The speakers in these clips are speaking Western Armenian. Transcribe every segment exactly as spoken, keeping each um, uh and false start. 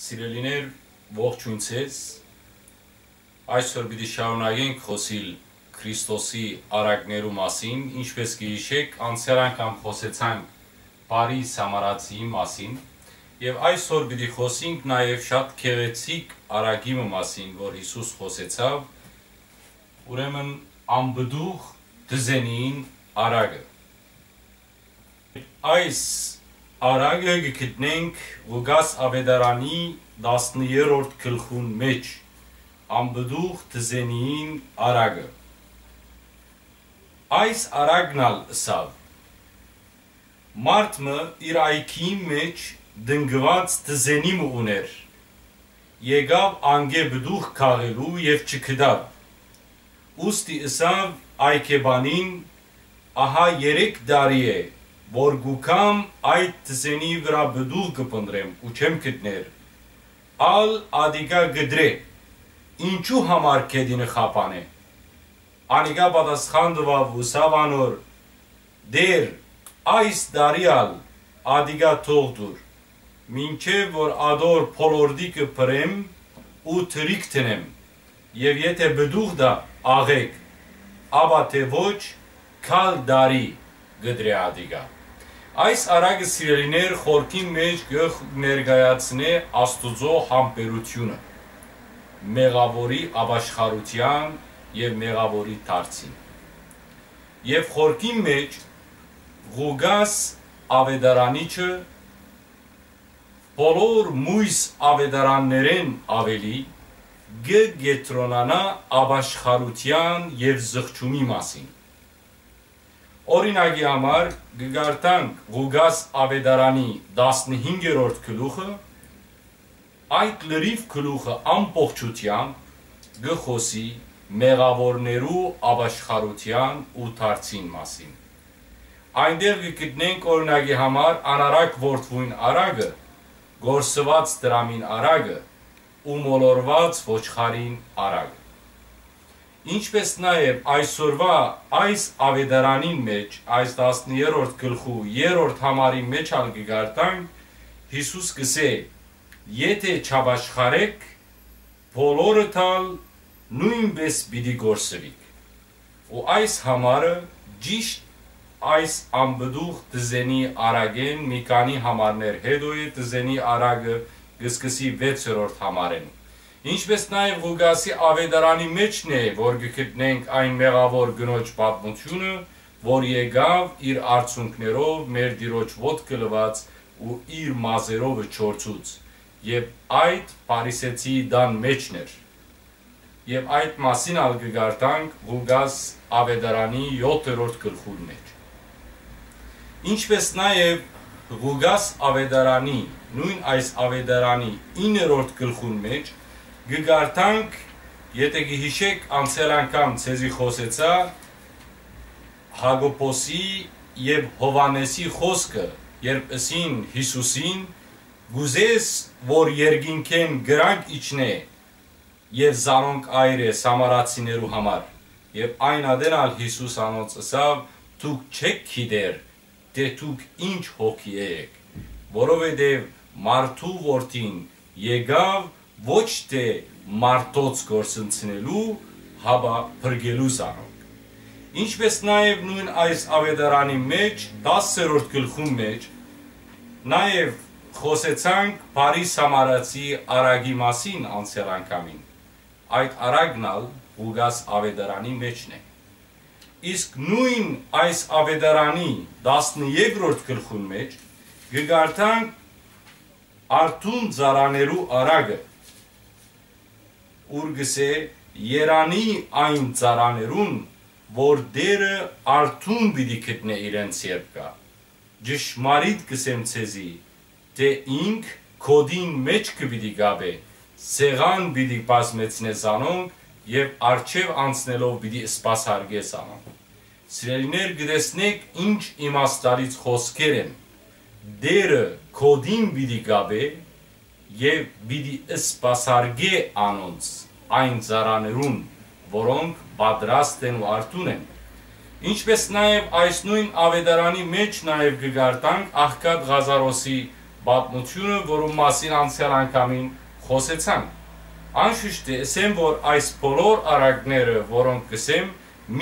Սիրելիներ, ողջույն ձեզ։ Այսօր պիտի շարունակենք խօսիլ Քրիստոսի արագներու մասին, ինչպես կը յիշէք, անցեալ անգամ խօսեցանք բարի Սամարացիի մասին, եւ այսօր պիտի խօսենք նաեւ շատ գեղեցիկ արագի մը մասին, որ Յիսուս խօսեցաւ, ուրեմն անպտուղ դզենիին արագը։ Այս արագը կը գտնենք Ղուկաս Աւետարանի տասներորդ գլխուն մէջ, անպտուղ դզենիին արագը։ Այս արագն ալ ըսաւ. «Մարդ մը իր այգիին մէջ տնկուած դզենի մը ունէր։ Եկաւ անկէ պտուղ քաղելու եւ չգտաւ։ Ուստի ըսաւ այգեպանին. "Ահա երեք տարի է, որ կու գամ, այդ դզենի վրայ պտուղ կը փնտռեմ ու չեմ գտներ։ Ալ ատիկա կտրէ, ինչու համար գետինը խափանէ"։ Անիկա պատասխան տուաւ ու ըսաւ անոր. "Տէր, այս տարի ալ ատիկա թող տուր, մինչեւ որ ատոր փոլորտիկը փռեմ ու թրիք դնեմ, եւ եթէ պտուղ տայ, աղէկ, ապա թէ ոչ, գալ տարի կտրէ ատիկա"։ Այս արագը, սիրելիներ, խորքին մէջ կը ներկայացնէ Աստուծոյ համբերութիւնը մեղաւորի ապաշխարութեան եւ մեղաւորի դարձին։ Եւ խորքին մէջ Ղուկաս Աւետարանիչը բոլոր մոյս աւետարաններէն աւելի կը կեդրոնանայ ապաշխարութեան եւ զղջումի մասին։ Օրինակի համար, կը կարդանք Ղուկաս Աւետարանի տասնհինգերորդ գլուխը, այդ լրիվ գլուխը ամբողջութեամբ կը խօսի մեղաւորներու ապաշխարութեան ու դարձին մասին։ Այնտեղ կը գտնենք, օրինակի համար, անարակ որդւոյն արագը, կորսուած դրամին արագը ու մոլորուած ոչխարին արագը։ Ինչպէս նաեւ այսօրուայ այս աւետարանին մէջ, այս տասներորդ գլխու երրորդ համարին մէջ ալ կը կարդանք, Յիսուս կ'ըսէ. "Եթէ չապաշխարէք, բոլորդ ալ նոյնպէս պիտի կորսուիք"։ Ու այս համարը ճիշդ այս անպտուղ դզենի արագէն մի քանի համարներ յետոյ է, դզենի արագը կը սկսի վեցերորդ համարէն։ Ինչպէս նաեւ Ղուկասի աւետարանի մէջն է, որ կը գտնենք այն մեղաւոր կնոջ պատմութիւնը, որ եկաւ իր արցունքներով մեր Տիրոջ ոտքը լուաց ու իր մազերովը չորցուց, եւ այդ Փարիսեցիի տան մէջն էր։ Եւ այդ մասին ալ կը կարդանք Ղուկաս աւետարանի յոթերորդ գլխուն մէջ։ Ինչպէս նաեւ Ղուկաս աւետարանի, նոյն այս աւետարանի իններորդ գլխուն մէջ կը կարդանք, եթէ կը յիշէք, անցեալ անգամ ձեզի խօսեցայ Յակոբոսի եւ Յովհաննէսի խօսքը, երբ ըսին Յիսուսին. "Կ'ուզես որ երկինքէն կրակ իջնէ", եւ զանոնք այր է Սամարացիներու համար։ Եւ այն ատեն ալ Յիսուս անոնց ըսաւ. "Դուք չէք գիտեր, թէ դուք ինչ հոգի էք, որովհետեւ մարդու որդին եկաւ ոչ թէ մարդոց կորսնցնելու, հապա փրկելու զանոնք"։ Ինչպէս նաեւ նոյն այս աւետարանի մէջ, տասերորդ գլխուն մէջ, նաեւ խօսեցանք բարի Սամարացի արագի մասին անցեալ անգամին։ Այդ արագն ալ Ղուկաս աւետարանի մէջն է։ Իսկ նոյն այս աւետարանի տասներորդ գլխուն մէջ կը կարդանք արթուն ծառաներու արագը, ուր կ'ըսէ. "Երանի այն ծառաներուն, որ Տէրը արթուն պիտի գտնէ իրենց երբ գայ։ Ճշմարիտ կ'ըսեմ ձեզի, թէ ինք գօտին մէջքը պիտի կապէ, սեղան պիտի բազմեցնէ զանոնք եւ առջեւ անցնելով պիտի սպասարկէ զանոնք"։ Սիրելիներ, կը տեսնէք ինչ իմաստալից խօսքեր են։ Տէրը գօտին պիտի կապէ եւ պիտի սպասարկէ անոնց այն ծառաներուն, որոնք պատրաստ են ու արթուն են։ Ինչպէս նաեւ այս նոյն աւետարանի մէջ նաեւ կը կարդանք աղքատ Ղազարոսի Պատմութիւնը, որուն մասին անցեալ անգամին խօսեցանք։ Անշուշտ, ըսեմ, որ այս բոլոր առակները, որոնք կ'ըսեմ,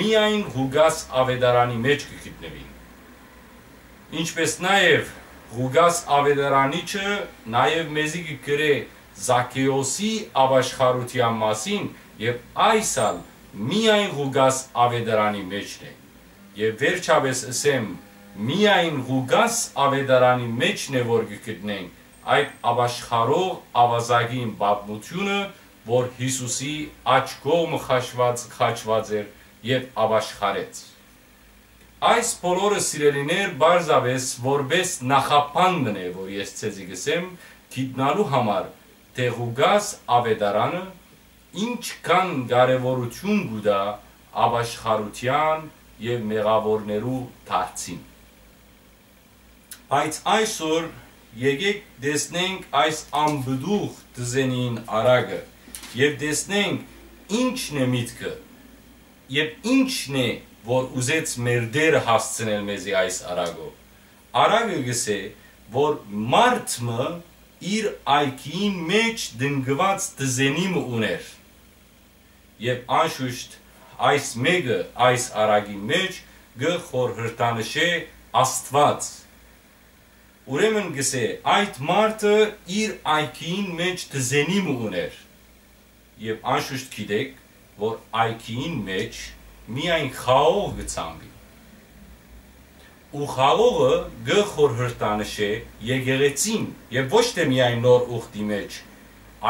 միայն Ղուկաս աւետարանի մէջ կը գտնուին։ Ինչպէս նաեւ Ղուկաս աւետարանիչը նաեւ մեզի կը գրէ Զաքէոսի աւաշխարութեան մասին, եւ այս ալ միայն Ղուկաս աւետարանի մէջն է։ Եւ վերջապէս ըսեմ, միայն Ղուկաս աւետարանի մէջն է, որ կը գտնենք այդ աւաշխարող աւազակին պատմութիւնը, որ Յիսուսի աջ կողմը խաչուած, խաչուած էր եւ աւաշխարեց։ Այս բոլորը, սիրելիներ, պարզապէս որպէս նախաբան մըն է, որ ես ձեզի կ'ըսեմ, գիտնալու համար, թէ Ղուկաս աւետարանը ինչքան կարեւորութիւն կու տայ աւաշխարութեան եւ մեղաւորներու դարձին։ Բայց այսօր եկէք տեսնենք այս անպտուղ դզենին առակը եւ տեսնենք ինչն է միտքը եւ ինչն է, որ ուզեց մեր Տէրը հասցնել մեզի այս առակով։ Առակը կ'ըսէ, որ մարդ մը իր այգիին մէջ տնկուած դզենի մը ունէր։ Եւ անշուշտ այս մէկը այս առակին մէջ կը խորհրդանշէ Աստուած։ Ուրեմն կ'ըսէ, այդ մարդը իր այգիին մէջ դզենի մը ունէր։ Եւ անշուշտ գիտէք, որ այգիին մէջ միայն խաղող կը ցանուի։ Ու խաղողը կը խորհրդանշէ եկեղեցին, եւ ոչ թէ միայն նոր ուխտի մէջ,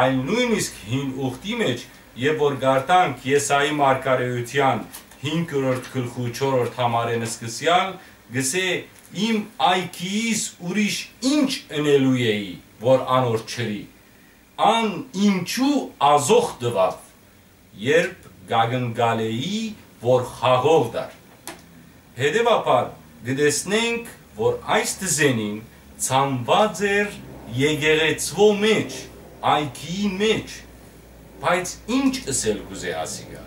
այլ նոյնիսկ հին ուխտի մէջ, եւ որ կարդանք Եսայի մարգարէութեան հինգերորդ գլխու չորրորդ համարէն սկսեալ, կ'ըսէ. «Իմ այգիիս ուրիշ ինչ ընելու էի, որ անոր չըրի»։ Ան ինչու ազոխ տուաւ, երբ կ'ակնկալէի, որ խաղող տար։ Հետեւաբար, կը տեսնենք, որ այս դզենին ցանուած էր եկեղեցւոյ մէջ, այգիի մէջ, բայց ինչ ըսել կ'ուզէ ասիկա,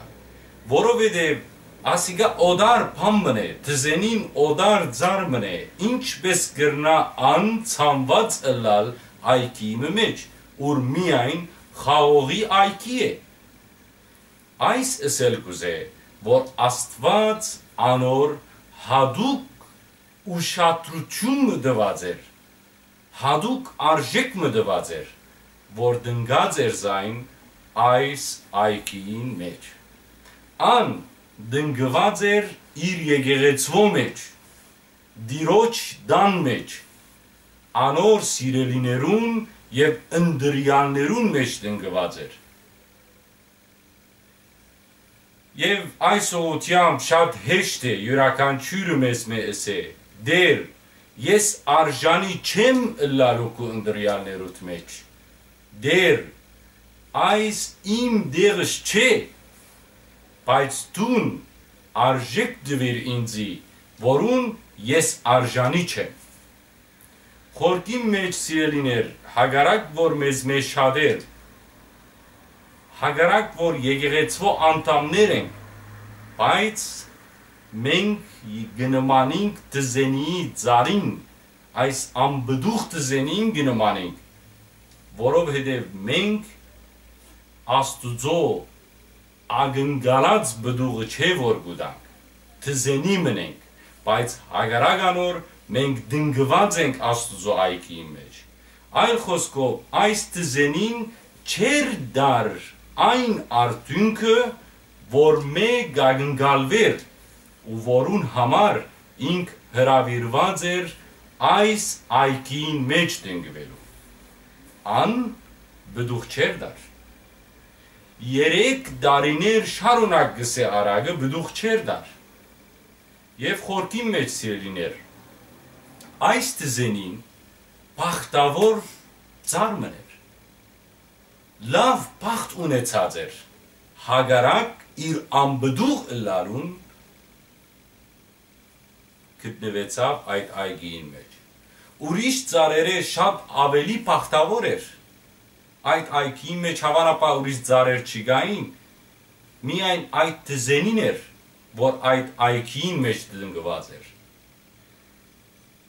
որովհետեւ ասիկա օտար բան մըն է, դզենին օտար ծառ մըն է, ինչպէս կրնայ ան ցանուած ըլլալ այգիի մը մէջ, ուր միայն խաղողի այգի է։ Այս ըսել կ'ուզէ, որ Աստուած անոր յատուկ ուշադրութիւն մը տուած էր, յատուկ արժէք մը տուած էր, որ տնկած էր զայն այս այգիին մէջ։ Ան տնկուած էր իր եկեղեցւոյ մէջ, Տիրոջ տան մէջ, անոր սիրելիներուն եւ ընտրեալներուն մէջ տնկուած էր։ Եւ այս ուղղութեամբ շատ հեշտ է իւրաքանչիւրը մեզմէ ըսէ. «Տէր, ես արժանի չեմ ըլլալու քու ընտրեալներուդ մէջ։ Տէր, այս իմ տեղս չէ, բայց դուն արժէք տուիր ինծի, որուն ես արժանի չեմ»։ Խորքին մէջ, սիրելիներ, հակառակ որ մեզմէ շատեր, հակառակ որ եկեղեցւոյ անդամներ ենք, բայց մենք կը նմանինք դզենիի ծառին, այս անպտուղ դզենին կը նմանինք, որովհետեւ մենք Աստուծոյ ակնկալած պտուղը չէ որ կու տանք, դզենի մըն ենք, բայց հակառակ անոր մենք տնկուած ենք Աստուծոյ այգիին մէջ։ Այլ խօսքով, այս դզենին չէր տար այն արդիւնքը, որ մէ կ'ակնկալուէր ու որուն համար ինք հրաւիրուած էր այս այգիին մէջ տնկուելու։ Ան պտուղ չէր տար։ Երեք տարիներ շարունակ, կ'ըսէ առակը, պտուղ չէր տար։ Եւ խորքին մէջ, սիրելիներ, այս դզենին բախտաւոր ծառ մըն էր։ Լաւ բախտ ունեցած էր, հակառակ իր անպտուղ ըլլալուն գտնուեցաւ այդ այգիին մէջ։ Ուրիշ ծառերէ շատ աւելի բախտաւոր էր։ Այդ այգիին մէջ հաւանաբար ուրիշ ծառեր չկային, միայն այդ դզենին էր, որ այդ այգիին մէջ տնկուած էր։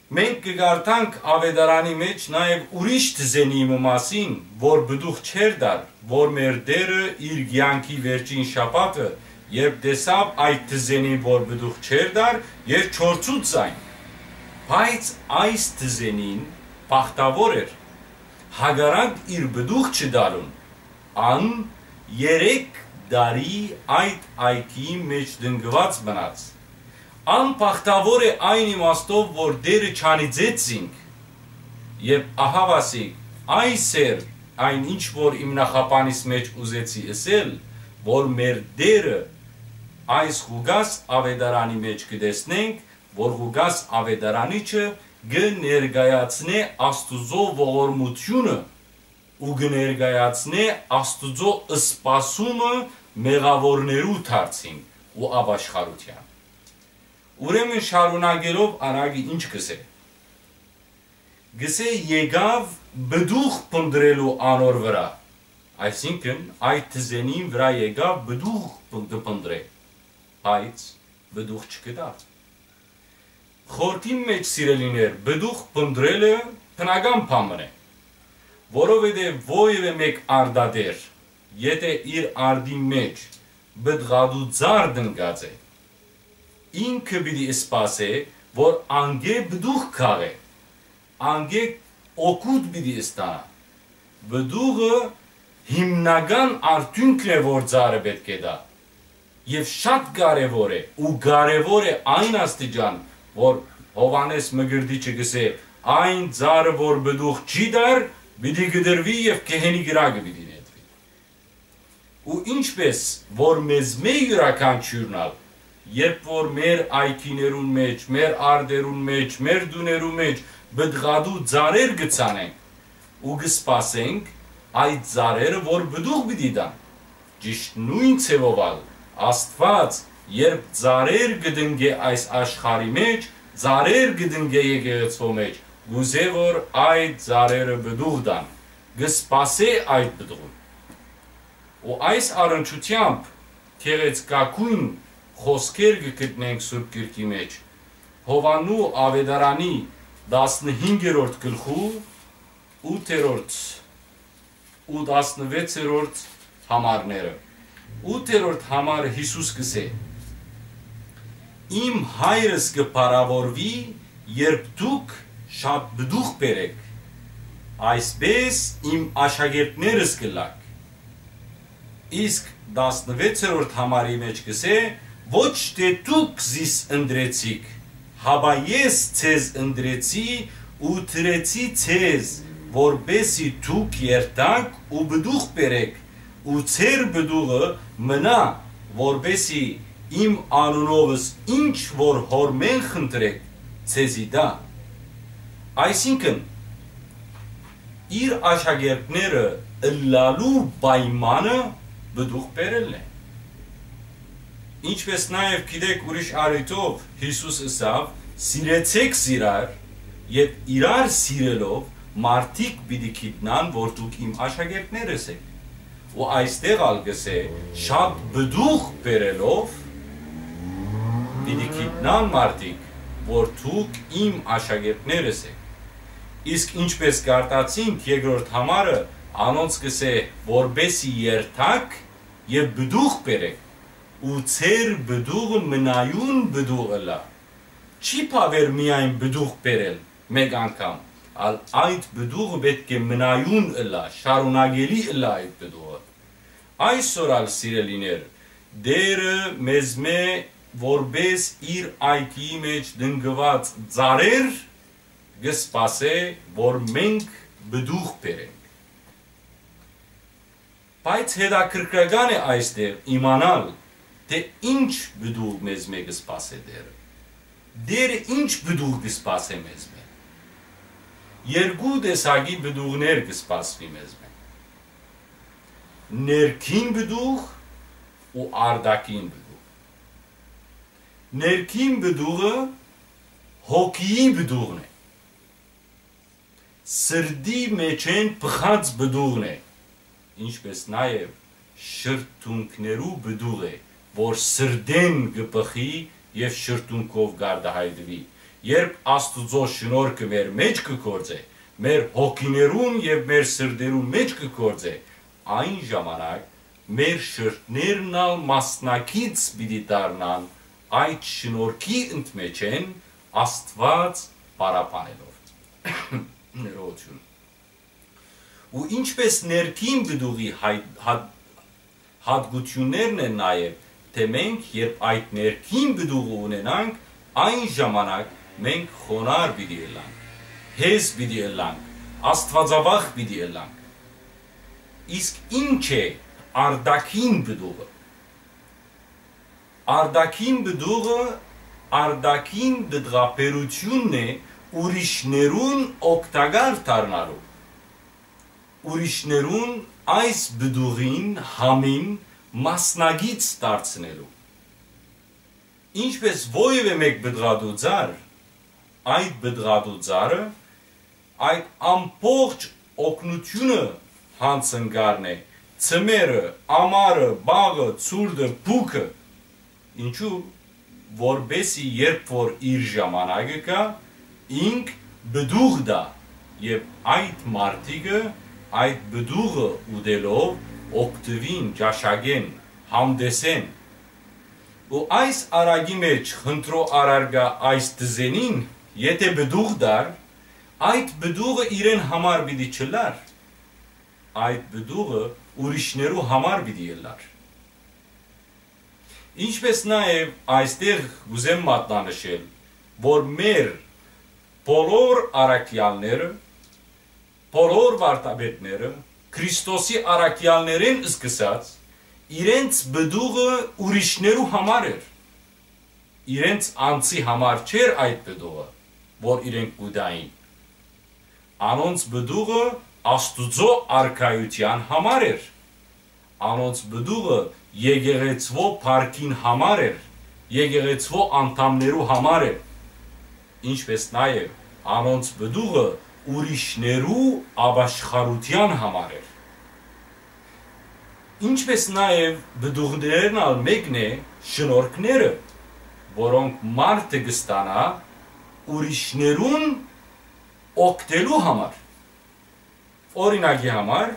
Մենք կը կարդանք Աւետարանի մէջ նաեւ ուրիշ թզենի մը մասին, որ պտուղ չէր տար, որ մեր Տէրը իր կեանքի վերջին շաբաթը, երբ տեսաւ այդ թզենին, որ պտուղ չէր տար, եւ չորցուց զայն։ Բայց այս թզենին բախտաւոր էր, հակառակ իր պտուղ չտալուն, ան երեք տարի այդ այգիի մէջ տնկուած մնաց։ Ան բախտաւոր է այն իմաստով, որ Տէրը չանիծեց զինք։ Եւ ահաւասիկ, այս էր այն, ինչ որ իմ նախաբանիս մէջ ուզեցի ըսել, որ մեր Տէրը այս Ղուկաս Աւետարանի մէջ կը տեսնենք, որ Ղուկաս Աւետարանիչը կը ներկայացնէ Աստուծոյ ողորմութիւնը ու կը ներկայացնէ Աստուծոյ սպասումը մեղաւորներու դարձին ու ապաշխարութեան։ Ուրեմն շարունակելով անակի ինչ կ'ըսէ։ Կ'ըսէ, եկաւ պտուղ փնտռելու անոր վրայ, այսինքն այդ թզենին վրայ եկաւ պտուղ փն-, կ'փնտռէ, բայց պտուղ չգտաւ։ Խորհրդին մէջ, սիրելիներ, պտուղ փնտռելը բնական բան մըն է, որովհետեւ որեւէ մէկ արտատէր, եթէ իր արտին մէջ պտղատու ծառ տնկած է, ինքը պիտի սպասէ, որ անկէ պտուղ քաղէ, անկէ օգուտ պիտի ստանայ։ Պտուղը հիմնական արդիւնքն է, որ ծառը պէտք է տայ։ Եւ շատ կարեւոր է, ու կարեւոր է այն աստիճան, որ Յովհաննէս Մկրտիչը կ'ըսէ, այն ծառը, որ պտուղ չի տար, պիտի կտրուի եւ գեհենի կրակը պիտի նետուի։ Ու ինչպէս որ մեզմէ իւրաքանչիւրն ալ, երբ որ մեր այգիներուն մէջ, մեր արտերուն մէջ, մեր տուներու մէջ պտղատու ծառեր կը ցանենք ու կը սպասենք այդ ծառերը, որ պտուղ պիտի տան, ճիշդ նոյն ձեւով ալ Աստուած, երբ ծառեր կը տնկէ այս աշխարհի մէջ, ծառեր կը տնկէ եկեղեցւոյ մէջ, կ'ուզէ որ այդ ծառերը պտուղ տան, կը սպասէ այդ պտուղին։ Ու այս առնչութեամբ գեղեցկագոյն խօսքեր կը գտնենք Սուրբ Գրքի մէջ, Յովհաննու Աւետարանի տասնհինգերորդ գլխու ութերորդ ու տասնվեցերորդ համարները։ Ութերորդ համարը Յիսուս կ'ըսէ. «Իմ Հայրս կը փառաւորուի, երբ դուք շատ պտուղ բերէք, այսպէս իմ աշակերտներս կ'ըլլաք»։ Իսկ տասնվեցերորդ համարի մէջ կ'ըսէ. «Ոչ թէ դուք զիս ընտրեցիք, հապա ես ձեզ ընտրեցի ու դրեցի ձեզ, որպէսզի դուք երթաք ու պտուղ բերէք, ու ձեր պտուղը մնայ, որպէսզի իմ անունովս ինչ որ Հօրմէն խնդրէք, ձեզի տայ»։ Այսինքն, իր աշակերտները ըլլալու պայմանը պտուղ բերելն է։ Ինչպէս նաեւ գիտեք, ուրիշ առիթով Յիսուս ըսաւ. «Սիրեցէք զիրար, եւ իրար սիրելով մարդիկ պիտի գիտնան, որ դուք իմ աշակերտներս էք»։ Ու այստեղ ալ կ'ըսէ. «Շատ պտուղ բերելով պիտի գիտնան մարդիկ, որ դուք իմ աշակերտներս էք»։ Իսկ ինչպէս կարտացինք երկրորդ համարը, անոնց կ'ըսէ. «Որպէսզի երթաք եւ պտուղ բերէք, ու ձեր պտուղը մնայուն պտուղ ըլլայ»։ Չի բաւեր միայն պտուղ բերել մէկ անգամ, ալ այդ պտուղը պէտք է մնայուն ըլլայ, շարունակելի ըլլայ այդ պտուղը։ Այսօր ալ, սիրելիներ, Տէրը մեզմէ որպէս իր այգիի մէջ տնկուած ծառեր կը սպասէ, որ մենք պտուղ բերենք։ Բայց հետաքրքրական է այստեղ իմանալ, թէ ինչ պտուղ մեզմէ կը սպասէ Տէրը։ Տէրը ինչ պտուղ կը սպասէ մեզմէ։ Երկու տեսակի պտուղներ կը սպասուի մեզմէ. ներքին պտուղ ու արտաքին պտուղ։ Ներքին պտուղը հոգիի պտուղն է, սրտի մէջէն բխած պտուղն է, ինչպէս նաեւ շրթունքներու պտուղ է, որ սրտէն կը բխի եւ շրթունքով կարտահայտուի, Երբ Աստուծոյ շնորհքը մեր մէջ կը գործէ, մեր հոգիներուն եւ մեր սրտերուն մէջ կը գործէ, այն ժամանակ մեր շրթներն ալ մասնակից պիտի դառնան այդ շնորհքի ընդմէջէն, Աստուած պարապանելով։ Ներողություն։ Ու ինչպէս ներքին պտուղի հայ-, հատ-, հատկութիւններն են նաեւ, թէ մենք, երբ այդ ներքին պտուղը ունենանք, այն ժամանակ մենք խոնար պիտի ըլլանք, հեզ պիտի ըլլանք, աստուածավախ պիտի ըլլանք։ Իսկ ի՞նչ է արտաքին պտուղը։ Արտաքին պտուղը արտաքին պտղաբերութիւնն է ուրիշներուն օգտակար դառնալու, ուրիշներուն այս պտուղին համին մասնակից դարձնելու։ Ինչպէս որեւէ մէկ պտղատու ծառ, այդ պտղատու ծառը այդ ամբողջ օգնութիւնը յանցնկալն է, ձմեռը, ամառը, բաղը, ցուրտը, փուքը։ Ինչու՞, որպէսզի երբ որ իր ժամանակը գայ, ինք պտուղ տայ, եւ այդ մարդիկը այդ պտուղը ուտելով օգտուին, ճաշակեն, համտեսեն։ Ու այս առակի մէջ խնդրոյ առարկայ այս տզենին, եթէ պտուղ տար, այդ պտուղը իրեն համար պիտի չըլլար, այդ պտուղը ուրիշներու համար պիտի ըլլար։ Ինչպէս նաեւ այստեղ կ'ուզեմ մատնանշել, որ մեր բոլոր առաքեալները, բոլոր վարդապետները, Քրիստոսի առաքեալներէն սկսած, իրենց պտուղը ուրիշներու համար էր։ Իրենց անձի համար չէր այդ պտուղը, որ իրենք կու տային։ Անոնց պտուղը Աստուծոյ առաքեալներուն համար էր։ Անոնց պտուղը եկեղեցւոյ փառքին համար էր, եկեղեցւոյ անդամներու համար էր, ինչպէս նաեւ անոնց պտուղը ուրիշներու ապաշխարութեան համար էր։ Ինչպէս նաեւ պտուղներէն ալ մէկն է շնորհքները, որոնք մարդը կը ստանայ ուրիշներուն օգնելու համար։ Օրինակի համար,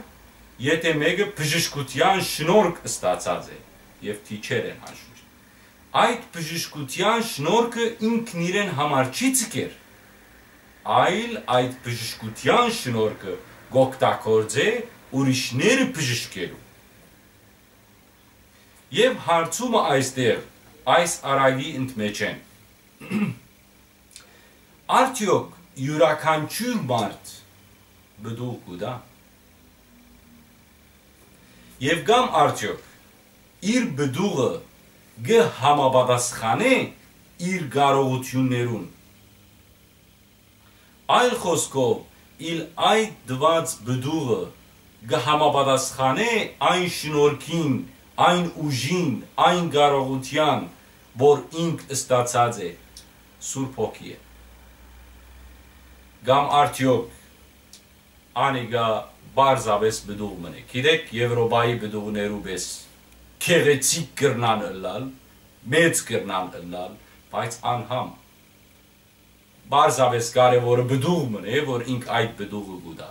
եթէ մէկը բժշկութեան շնորհք ստացած է եւ թիչեր են անշուշտ, այդ բժշկութեան շնորհքը ինքն իրեն համար չի ձգեր, այլ այդ բժշկութեան շնորհքը կ'օգտագործէ ուրիշները բժշկելու։ Եւ հարցումը այստեղ, այս առակի ընդմէջէն, արդեօք իւրաքանչիւր մարդ պտուղ կու տայ։ Եւ կամ արդեօք իր պտուղը կը համապատասխանէ իր կարողութիւններուն։ Այլ խօսքով, իլ այդ տուած պտուղը կը համապատասխանէ այն շնորհքին, այն ուժին, այն կարողութեան, որ ինք ստացած է, Սուրբ Հոգի է։ Կամ արդեօք անիկա պարզապէս պտուղ մըն է։ Գիտեք, Եւրոպայի պտուղներու պէս գեղեցիկ կրնան ըլլալ, մեծ կրնան ըլլալ, բայց անհամ։ Պարզապէս կարեւորը պտուղ մըն է, որ ինք այդ պտուղը կու տայ։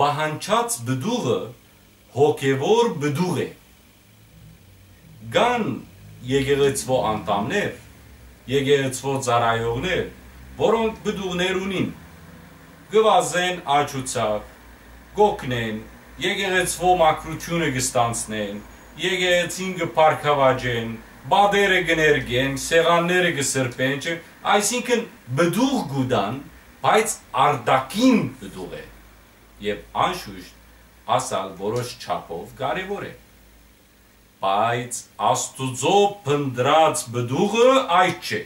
Պահանջած պտուղը հոգեւոր պտուղ է։ Կան եկեղեցւոյ անդամներ, եկեղեցւոյ ծառայողներ, որոնք պտուղներ ունին, կը վազեն աջուցակ, կ'օգնեն, եկեղեցւոյ մաքրութիւնը կը ստանձնեն, եկեղեցին կը բարգաւաճեն, պատերը կը ներկեն, սեղանները կը սրբեն, չէ՞, այսինքն պտուղ կու տան, բայց արտաքին պտուղ է, եւ անշուշտ ասալ որոշ չափով կարեւոր է։ Բայց Աստուծոյ փնտռած պտուղը այդ չէ։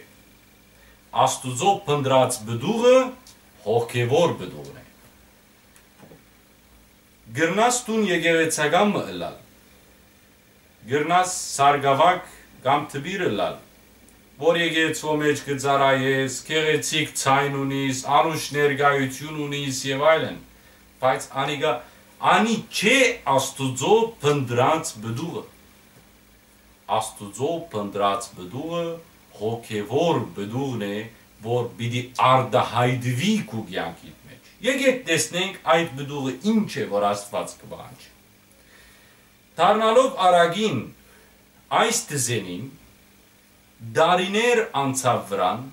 Աստուծոյ փնտռած պտուղը հոգեւոր պտուղն է։ Կրնաս դուն եկեղեցական մը ըլլալ, կրնաս սարկաւագ կամ դպիր ըլլալ, որ եկեղեցւոյ մէջ կը ծառայես, գեղեցիկ ձայն ունիս, անուշ ներկայութիւն ունիս եւ այլն, բայց անիկա անի չէ Աստուծոյ փնտռած պտուղը։ Աստուծոյ փնտռած պտուղը հոգեւոր պտուղն է, որ պիտի արտայայտուի քու կեանքիդ մէջ։ Եկէք տեսնենք այդ պտուղը ինչ է, որ Աստուած կը պահանջի։ Դառնալով առակին այս դզենին, տարիներ անցաւ վրան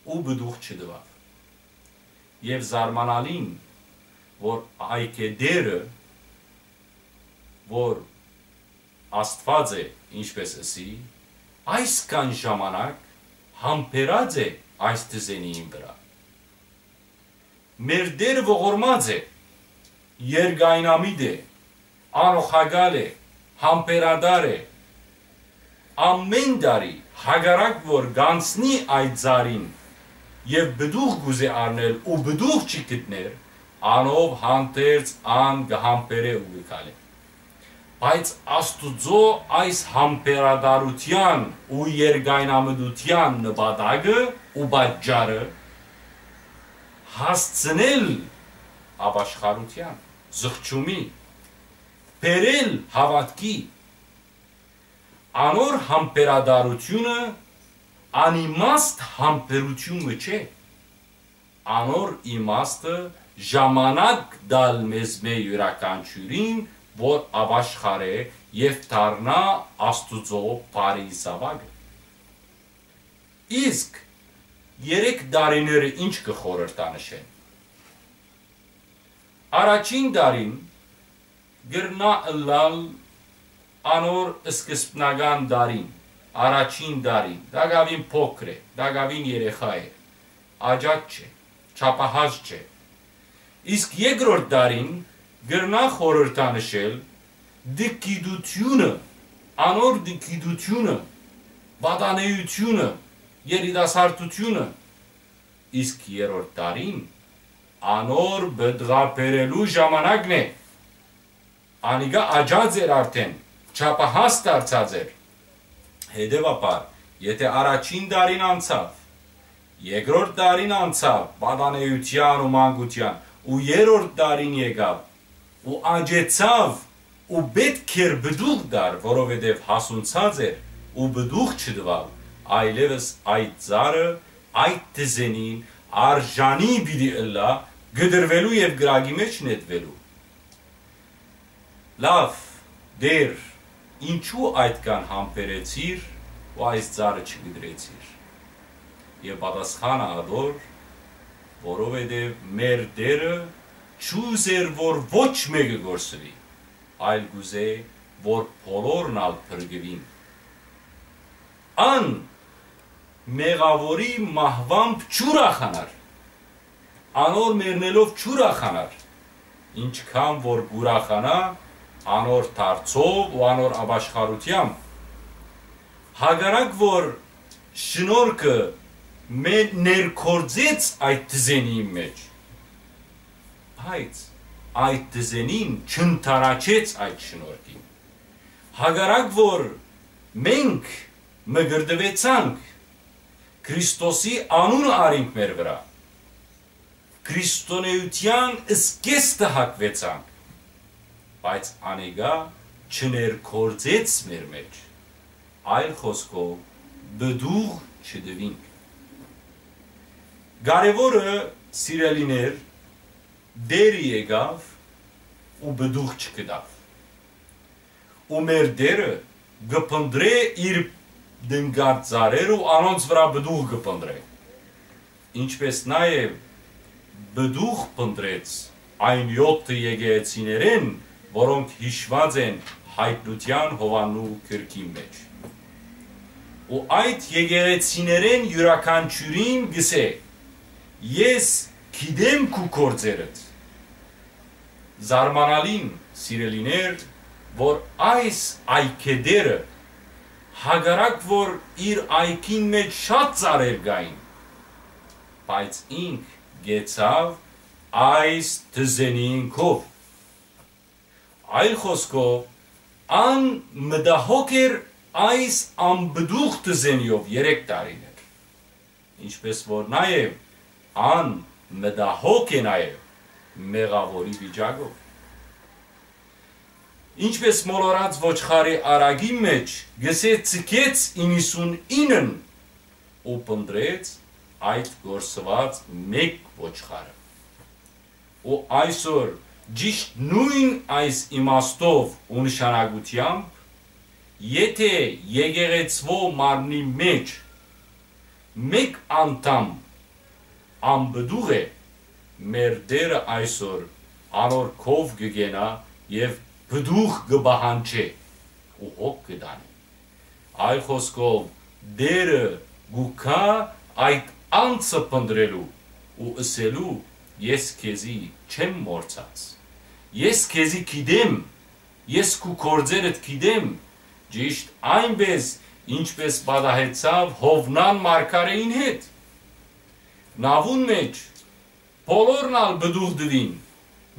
ու պտուղ չտուաւ։ Եւ զարմանալին, որ այգետերը, որ Աստուած է, ինչպես ըսի, այսքան ժամանակ համբերած է այս դզենին վրայ։ Մեր Տերը ողորմած է, երկայնամիտ է, անօղակալ է, համբերատար է։ Ամէն տարի, հակառակ որ գանցնի այդ ծառին եւ պտուղ կուզէ առնել ու պտուղ չի գտներ, անով հանդերձ ան կը համբերէ ու կը քալէ։ Բայց Աստուծոյ այս համբերատարութեան ու երկայնամտութեան նպատակը ու պատճառը հասցնել ապաշխարութեան, զղջումի, բերել հաւատքի, անոր համբերատարութիւնը անիմաստ համբերութիւն մը չէ, անոր իմաստը ժամանակ տալ մեզմէ իւրաքանչիւրին, որ ապաշխարէ եւ դառնայ Աստուծոյ բարի զաւակը։ Իսկ երեք տարիները ինչ կը խորհրդանշեն։ Առաջին տարին կրնայ ըլլալ անոր սկզբնական տարին, առաջին տարին, տակաւին փոքր է, տակաւին երեխայ է, աճած չէ, չափահաս չէ։ Իսկ երկրորդ տարին կրնայ խորհրդանշել դգիտութիւնը, անոր դգիտութիւնը, վատանեութիւնը, երիտասարդութիւնը, իսկ երրորդ տարին անոր պտղաբերելու ժամանակն է։ Անիկա աճած էր արդէն, չափահաս դարձած էր։ Հետեւաբար, եթէ առաջին տարին անցաւ, երկրորդ տարին անցաւ պատանեութեան ու մանկութեան, ու երրորդ տարին եկաւ, ու աճեցաւ, ու պէտք էր պտուղ տար, որովհետեւ հասունցած էր ու պտուղ չտուաւ, այլեւս այդ ծառը, այդ դզենին արժանի պիտի ըլլայ կտրուելու եւ կրակի մէջ նետուելու։ Լաւ, Տէր, ինչո՞ւ այդքան համբերեցիր ու այս ծառը չկտրեցիր։ Եւ պատասխանը ատոր, որովհետեւ մեր Տէրը չուզեր, որ ոչ մէկը կորսուի, այլ կուզէ, որ բոլորն ալ փրկուին։ Ան մեղաւորի մահուամբ չուրախանար, անոր մեռնելով չուրախանար, ինչքան որ կուրախանայ անոր դարձով ու անոր ապաշխարութեամբ։ Հակառակ որ շնորհքը մե-, ներգործեց այդ դզենին մէջ, բայց այդ դզենին չընդառաջեց այդ շնորհքին։ Հակառակ որ մենք մկրտուեցանք, Քրիստոսի անունը առինք մեր վրայ, քրիստոնէութեան զգեստը հագուեցանք, բայց անիկա չներգործեց մեր մէջ, այլ խօսքով, պտուղ չտուինք։ Կարեւորը, սիրելիներ, Տէրը եկաւ ու պտուղ չգտաւ։ Ու մեր Տէրը կը փնտռէ իր տնկած ծառերը ու անոնց վրայ պտուղ կը փնտռէ, ինչպէս նաեւ պտուղ փնտռեց այն եօթը եկեղեցիներէն, որոնք յիշուած են Յայտնութեան Յովհաննու գրքին մէջ։ Ու այդ եկեղեցիներէն իւրաքանչիւրին կ'ըսէ. «Ես գիտեմ քու գործերդ»։ Զարմանալին, սիրելիներ, որ այս այգետերը, հակառակ որ իր այգին մէջ շատ ծառեր կային, բայց ինք կեցաւ այս դզենին քով։ Այլ խօսքով, ան մտահոգ էր այս անպտուղ դզենիով երեք տարիներ, ինչպես որ նաեւ ան մտահոգ է նաեւ մեղաւորի վիճակով։ Ինչպես մոլորած ոչխարի արագին մէջ գսե, ցկեց իննսունինն ու փնտռեց այդ կորսուած մէկ ոչխարը։ Ու այսօր, ճիշդ նոյն այս իմաստով ու նշանակութեամբ, եթէ եկեղեցւոյ մարմնի մէջ մէկ անդամ անպտուղ է, մեր Տէրը այսօր անոր քով կը կենայ եւ պտուղ կը պահանջէ ու հոգ կը տանի։ Այլ խօսքով, Տէրը կու գայ այդ անձը փնտռելու ու ըսելու. «Ես քեզի չեմ մոռցած։ Ես քեզի գիտեմ, ես քու գործերդ գիտեմ»։ Ճիշդ այնպէս, ինչպէս պատահեցաւ Յովնան մարգարէին հետ։ Նաւուն մէջ բոլորն ալ պտուղ տուին,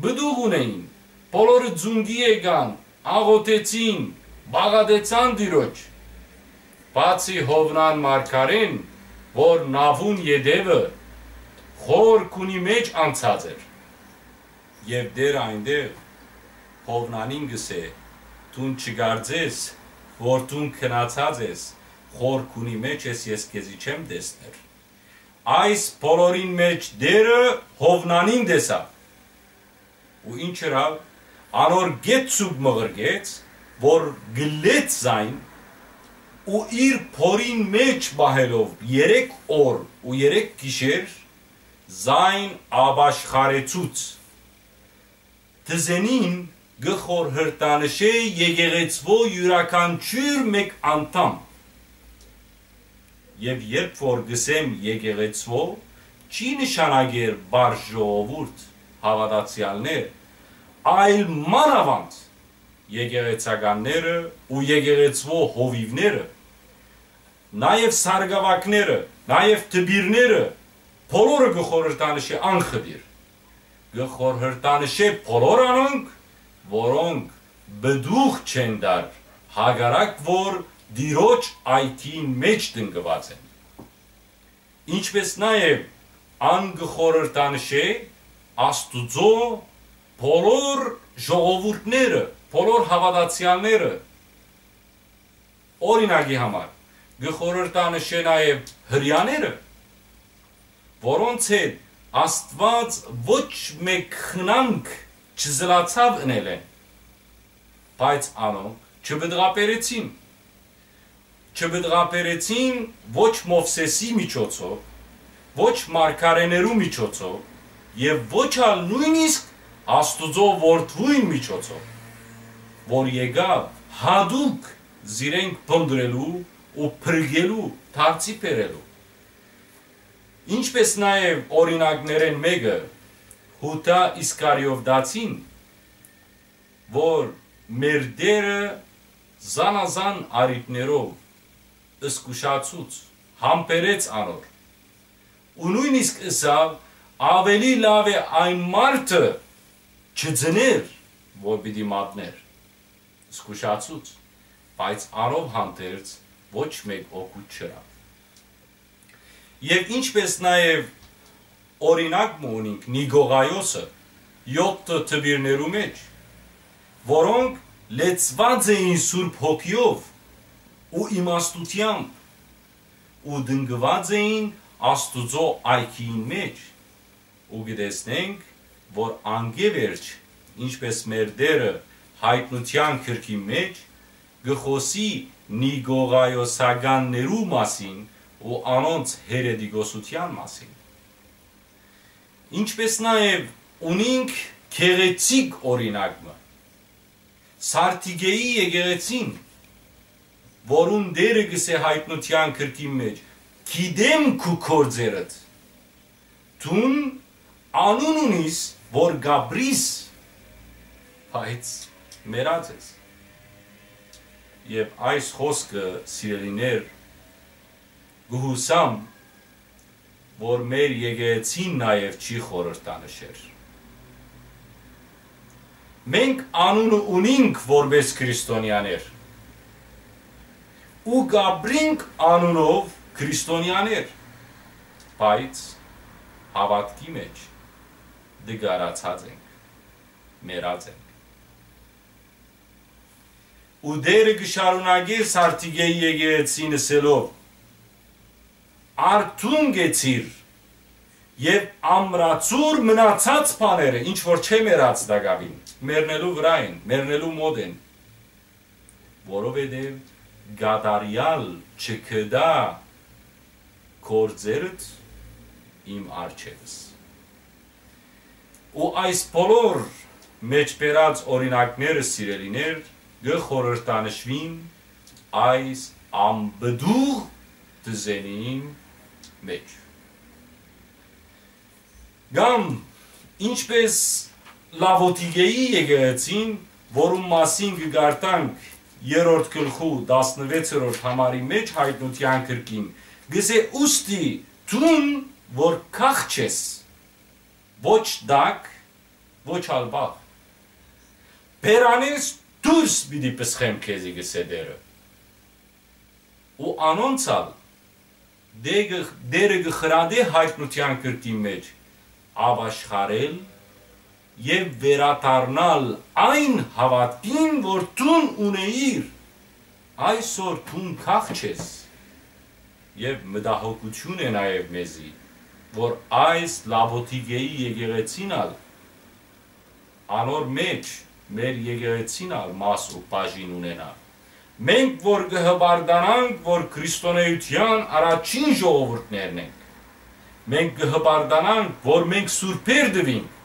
պտուղ ունէին, բոլորը ծունկի եկան, աղօթեցին, պաղատեցան Տիրոջ։ Բացի Յովնան մարգարէն, որ Նաւուն ետեւը խոր քունի մէջ անցած էր։ Եւ Տէրը այնտեղ Յովնանին կ'ըսէ. «Դուն չկարծես, որ դուն գնացած ես, խոր քունի մէջ ես, ես քեզի չեմ տեսներ»։ Այս բոլորին մէջ Տէրը Յովնանին տեսաւ։ Ու ինչ ըրաւ, անոր գետ սուգ մղրկեց, որ գլեց զայն, ու իր փորին մէջ պահելով երեք օր ու երեք գիշեր, զայն ապաշխարեցուց։ Դզենին կը խորհրդանշէ եկեղեցւոյ իւրաքանչիւր մէկ անդամ։ Եւ երբ որ կ'ըսեմ եկեղեցւոյ, չի նշանակեր պարզ ժողովուրդ, հաւատացեալներ, այլ մանաւանդ եկեղեցականները ու եկեղեցւոյ հովիւները, նաեւ սարկաւագները, նաեւ դպիրները, բոլորը կը խորհրդանշէ անխտիր։ Կը խորհրդանշէ բոլոր անոնք, որոնք պտուղ չեն տար, հակառակ որ Տիրոջ այգին մէջ տնկուած են։ Ինչպէս նաեւ ան կը խորհրդանշէ Աստուծոյ բոլոր ժողովուրդները, բոլոր հաւատացեալները։ Օրինակի համար, կը խորհրդանշէ նաեւ Հրեաները, որոնց հետ Աստուած ոչ մէկ խնամք չզլացաւ ընելէն, բայց անոնք չպտղաբերեցին։ Չպտղաբերեցին ոչ Մովսէսի միջոցով, ոչ մարգարէներու միջոցով եւ ոչ ալ նոյնիսկ Աստուծոյ Որդւոյն միջոցով, որ եկաւ յատուկ զիրենք փնտռելու ու փրկելու, դարձի բերելու։ Ինչպէս նաեւ օրինակներէն մէկը՝ Յուդա Իսկարիովտացին, որ մեր Տէրը զանազան առիթներով զգուշացուց, համբերեց անոր ու նոյնիսկ ըսաւ. «Աւելի լաւ է այն մարդը չծներ, որ պիտի մատնէր»։ Զգուշացուց, բայց անով հանդերձ ոչ մէկ օգուտ չըրաւ։ Եւ ինչպէս նաեւ օրինակ մը ունինք Նիկողայոսը, եօթը դպիրներու մէջ, որոնք լեցուած էին Սուրբ Հոգիով ու իմաստութեամբ ու տնկուած էին Աստուծոյ այգիին մէջ, ու կը տեսնենք, որ անկէ-վերջ, ինչպէս մեր Տէրը Յայտնութեան գրքին մէջ, կը խօսի Նիկողայոսականներու մասին ու անոնց հերետիկոսութեան մասին։ Ինչպէս նաեւ ունինք գեղեցիկ օրինակ մը, Սարդիկէի եկեղեցին, որուն Տէրը կ'ըսէ Յայտնութեան գրքին մէջ. «Գիտեմ քու գործերդ, դուն անուն ունիս, որ կ'ապրիս, բայց մեռած ես»։ Եւ այս խօսքը, սիրելիներ, կը յուսամ, որ մեր եկեղեցին նաեւ չի խորհրդանշեր։ Մենք անունը ունինք որպես քրիստոնեաներ ու կ'ապրինք անունով քրիստոնեաներ, բայց հաւատքի մէջ դգարացած ենք, մեռած ենք։ Ու Տէրը կը շարունակէ Սարդիկէի եկեղեցին ըսելով. արթուն կեցիր եւ ամրացուր մնացած բաները, ինչ որ չեմ ըրած տակաւին, մեռնելու վրայ են, մեռնելու մօտ են, որովհետեւ կատարեալ չգտայ գործերդ իմ առջեւս։ Ու այս բոլոր մէջբերած օրինակները, սիրելիներ, կը խորհրդանշուին այս անպտուղ դզենին մէջ։ Կամ ինչպես Լաւոտիկէի եկեղեցին, որուն մասին կը կարդանք երրորդ գլխու տասնվեցերորդ համարի մէջ Յայտնութեան գրքին, կ'ըսէ. «Ուստի դուն որ կախ չես, ոչ տակ, ոչ ալ վաղ, բերանէս դուրս պիտի պսխեմ քեզի», կ'ըսէ Տէրը։ Ու անոնց ալ Տէ-, Տէրը կը խրատէ Յայտնութեան գրքին մէջ ապաշխարել եւ վերադառնալ այն հաւատքին, որ դուն ունէիր, այսօր դուն կախ չես։ Եւ մտահոգութիւն է նաեւ մեզի, որ այս Լաւոտիկէի եկեղեցին ալ, անոր մէջ մեր եկեղեցին ալ մաս ու բաժին ունենայ։ Մենք որ կը հպարտանանք, որ քրիստոնէութեան առաջին ժողովուրդներն ենք, մենք կը հպարտանանք, որ մենք սուրբեր տուինք,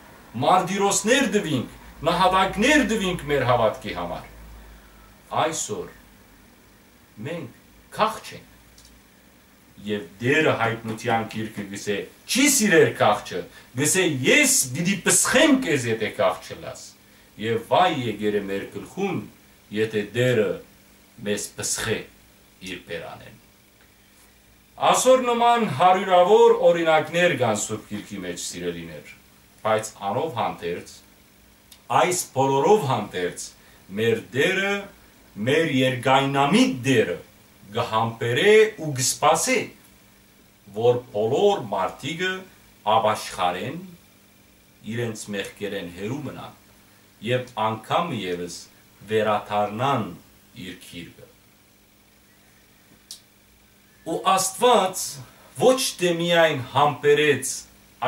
մարտիրոսներ տուինք, նահատակներ տուինք մեր հաւատքի համար, այսօր մենք կախ չենք։ Եւ Տէրը Յայտնութեան գիրքը կ'ըսէ. «Չի սիրեր կախչը», կ'ըսէ. «Ես պիտի պսխեմ քեզ, եթէ կախ չըլլաս»։ Եւ վայ եկեր է մեր գլխուն, եթէ Տէրը մեզ պսխէ իր բերանէն։ Ասոր նման հարիւրաւոր օրինակներ կան Սուրբ Գիրքի մէջ, սիրելիներ, բայց անով հանդերձ, այս բոլորով հանդերձ, մեր Տէրը, մեր երկայնամիտ Տէրը կը համբերէ ու կը սպասէ, որ բոլոր մարդիկը ապաշխարեն, իրենց մեղքերէն հեռու մնան եւ անգամ ևս վերադառնան իր գիրկը։ Ու Աստուած ոչ թէ միայն համբերեց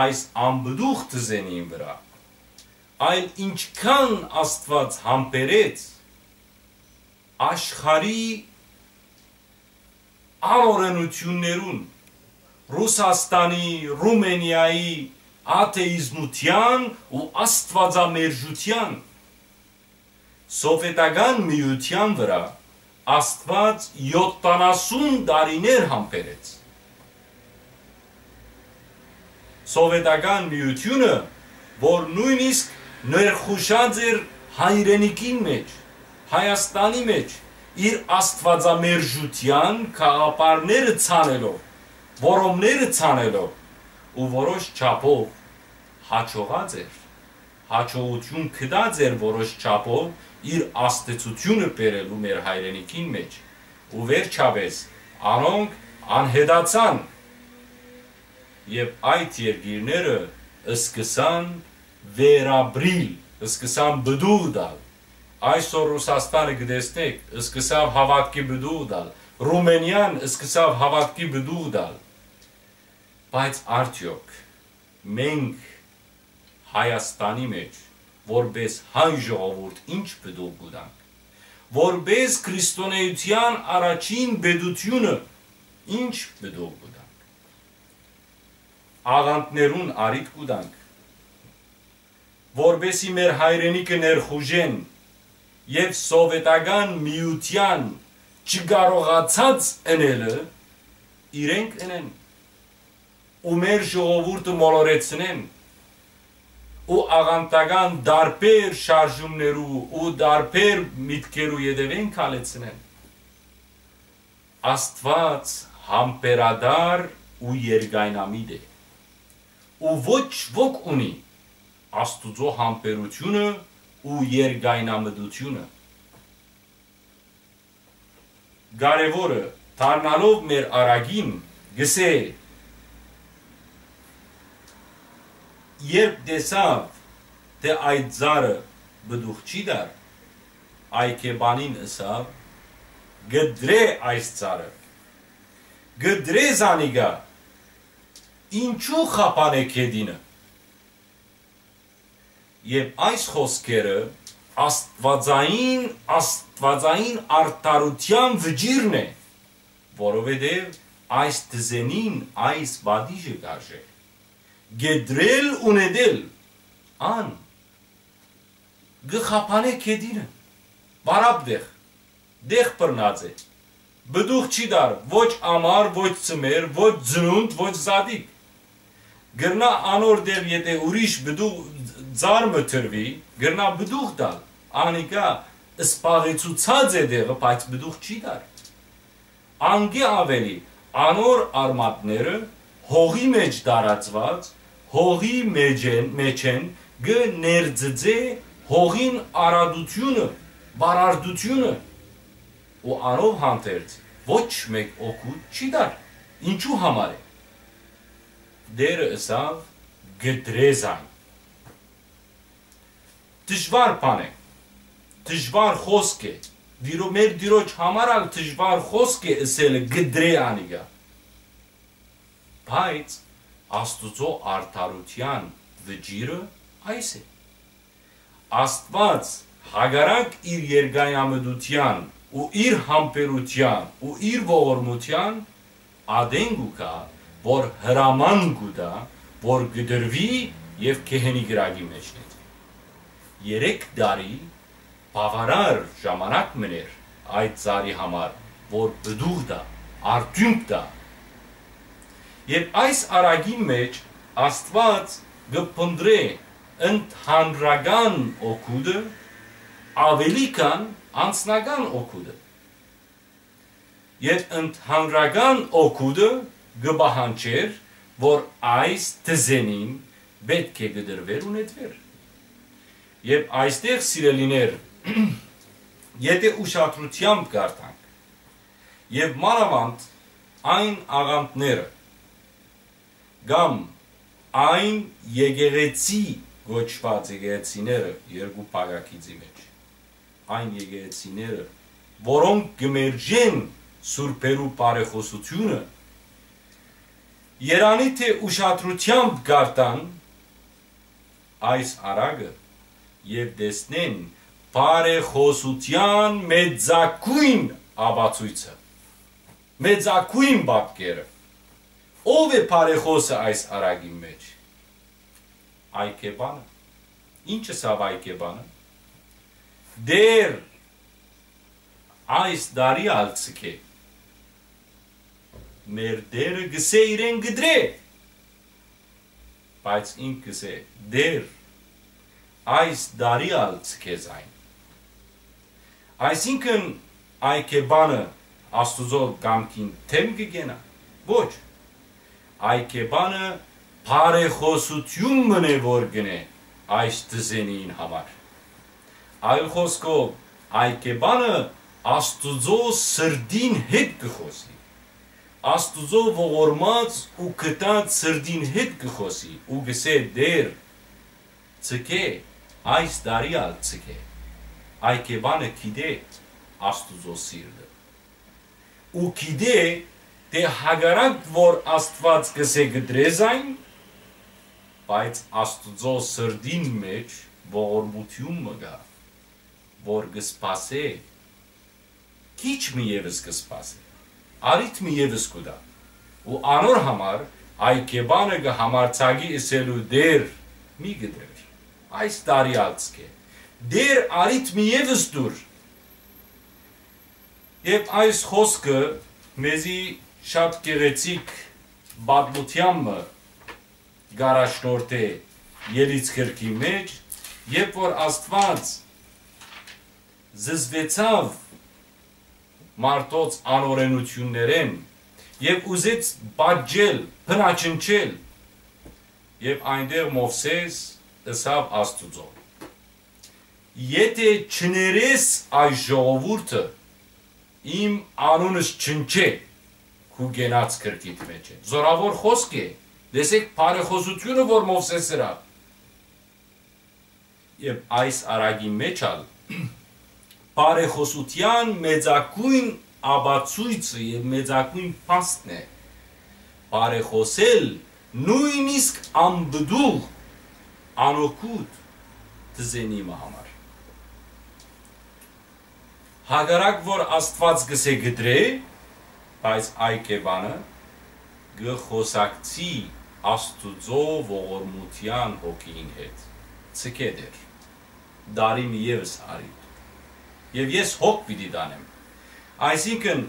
այս անպտուղ դզենին վրայ, այլ ինչքան Աստուած համբերեց աշխարհի անօրենութիւններուն, Ռուսաստանի, Ռումենիայի, աթէիզմութեան ու աստուածամերժութեան, սովետական միութեան վրայ Աստուած յոթանասուն տարիներ համբերեց։ Սովետական միութիւնը, որ նոյնիսկ ներխուժած էր հայրենիքին մէջ, Հայաստանի մէջ, իր աստուածամերժութեան գաղափարները ցանելով, որոմները ցանելով ու որոշ չափով հաջողած էր, հաջողութիւն գտած էր որոշ չափով իր ազդեցութիւնը բերելու մեր հայրենիքին մէջ, ու վերջապէս անոնք անհետացան, եւ այդ երկիրները սկսան վերապրիլ, սկսան պտուղ տալ։ Այսօր Ռուսաստանը կը տեսնէք, սկսաւ հաւատքի պտուղ տալ, Ռումենիան սկսաւ հաւատքի պտուղ տալ, բայց արդեօք մենք Հայաստանի մէջ որպէս հայ ժողովուրդ ինչ պտուղ կու տանք, որպէս քրիստոնէութեան առաջին պետութիւնը ինչ պտուղ կու տանք, աղանդներուն առիթ կու տանք, որպէսի մեր հայրենիքը ներխուժեն եւ սովետական միութեան չկարողացած ընելը իրենք ընեն ու մեր ժողովուրդը մոլորեցնեն ու աղանդական տարբեր շարժումներու ու տարբեր միտքերու ետեւէն քալեցնեն։ Աստուած համբերատար ու երկայնամիտ է, ու ոչ ոք ունի Աստուծոյ համբերութիւնը ու երկայնամտութիւնը։ Կարեւորը, դառնալով մեր առակին, կ'ըսէ. երբ տեսաւ, թէ այդ ծառը պտուղ չի տար, այգեպանին ըսաւ. «Կտրէ այս ծառը, կտրէ զանիկա, Ինչու խափանէ գետինը։ Եւ այս խօսքերը աստուածային, աստուածային արդարութեան վճիռն է, որովհետեւ այս դզենին այս պատիժը կ'արժէ. կեդրել ու նետել, ան կը խափանէ գետինը, վարապ տեղ, տեղ բռնած է։ Պտուղ չի տար ոչ ամառ, ոչ ձմեռ, ոչ ծնունդ, ոչ զատիկ։ Կրնայ անոր տեղ, եթէ ուրիշ պտուղ, ծառ մը դրուի, կրնայ պտուղ տալ, անիկա սպաղեցուցած է տեղը, բայց պտուղ չի տար։ Անկէ աւելի, անոր արմատները հողի մէջ տարածուած, հողի մէջէն, մէջէն կը ներծծէ հողին արարածութիւնը, վարարդութիւնը, ու անով հանդերձ ոչ մէկ օգուտ չի տար։ Ինչու համար է։ Տէրը ըսաւ. կտրե զայն։ Դժուար բան է, դժուար խօսք է, դիրո-, մեր Տիրոջ համար ալ դժուար խօսք է ըսելը կտրե անիկա։ Բայց Աստուծոյ արդարութեան վճիռը այս է. Աստուած, հակառակ իր երկայամտութեան ու իր համբերութեան ու իր ողորմութեան, ատեն կու գայ, որ հրաման կու տայ, որ կտրուի եւ գեհենի կրակի մէջ նետուի։ Երեք տարի բաւարար ժամանակ մըն էր այդ ծառի համար, որ պտուղ տայ, արդիւնք տայ։ Եւ այս արագին մէջ Աստուած կը փնտռէ ընդհանրական օգուտը աւելի քան անձնական օգուտը։ Եւ ընդհանրական օգուտը կը պահանջէր, որ այս դզենին պէտք է կտրուէր ու նետուէր։ Եւ այստեղ, սիրելիներ, եթէ ուշադրութեամբ կարդանք, եւ մանաւանդ այն աղանդները, կամ այն եկեղեցի կոչուած եկեղեցիները երկու փակագիծի մէջ, այն եկեղեցիները, որոնք կը մերժեն սուրբերու բարեխօսութիւնը, երանի թէ ուշադրութեամբ կարդան այս արագը եւ տեսնեն բարեխօսութեան մեծագոյն ապացոյցը, մեծագոյն պատկերը։ Ո՞վ է բարեխօսը այս արագին մէջ։ Այգեպանը։ Ի՞նչ ըսաւ այգեպանը։ Տէր, այս տարի ալ ցկէ։ Մեր Տէրը կ'ըսէ իրեն կտրէ, բայց ինք կ'ըսէ. «Տէր, այս տարի ալ ցկէ զայն»։ Այսինքն, այգեպանը Աստուծոյ կամքին դէմ կը կենայ։ Ոչ։ Այգեպանը բարեխօսութիւն մըն է, որ կ'ընէ այս դզենին համար։ Այլ խօսքով, այգեպանը Աստուծոյ սրտին հետ կը խօսի, Աստուծոյ ողորմած ու գթած սրտին հետ կը խօսի ու կ'ըսէ. «Տէր, ցկէ, այս տարի ալ ցկէ»։ Այգեպանը գիտէ Աստուծոյ սիրտը ու գիտէ թէ հակառակ որ Աստուած կ'ըսէ կտրէ զայն, բայց Աստուծոյ սրտին մէջ ողորմութիւն մը կայ, որ կը սպասէ, քիչ մը եւս կը սպասէ, առիթ մը եւս կու տայ։ Ու անոր համար այգեպանը կը համարձակի ըսելու. «Տէր, մի կտրեր, այս տարի ալ ցկէ, Տէր, առիթ մը եւս տուր»։ Եւ այս խօսքը մեզի շատ գեղեցիկ պատմութեան մը կ'առաջնորդէ Ելից գրքի մէջ, երբ որ Աստուած զզվեցաւ մարդոց անօրենութիւններէն եւ ուզեց պատժել, բնաջնջել, եւ այնտեղ Մովսէս ըսաւ Աստուծոյ. «Եթէ չներես այս ժողովուրդը, իմ անունս չնչէ քու կենաց գրքիդ մէջ»։ Զօրաւոր խօսք է, տեսեք բարեխօսութիւնը, որ Մովսէս ըրաւ։ Եւ այս արագին մէջ ալ բարեխօսութեան մեծագոյն ապացոյցը եւ մեծագոյն փաստն է բարեխօսել նոյնիսկ անպտուղ անօգուտ դզենի մը համար։ Հակառակ որ Աստուած կ'ըսէ կտրէ, բայց այ կեբանը կը խօսակցի Աստուծոյ ողորմութեան հոգիին հետ. «Ձգէ Տէր, տարի մը եւս առի, եւ ես հոգ պիտի տանեմ»։ Այսինքն,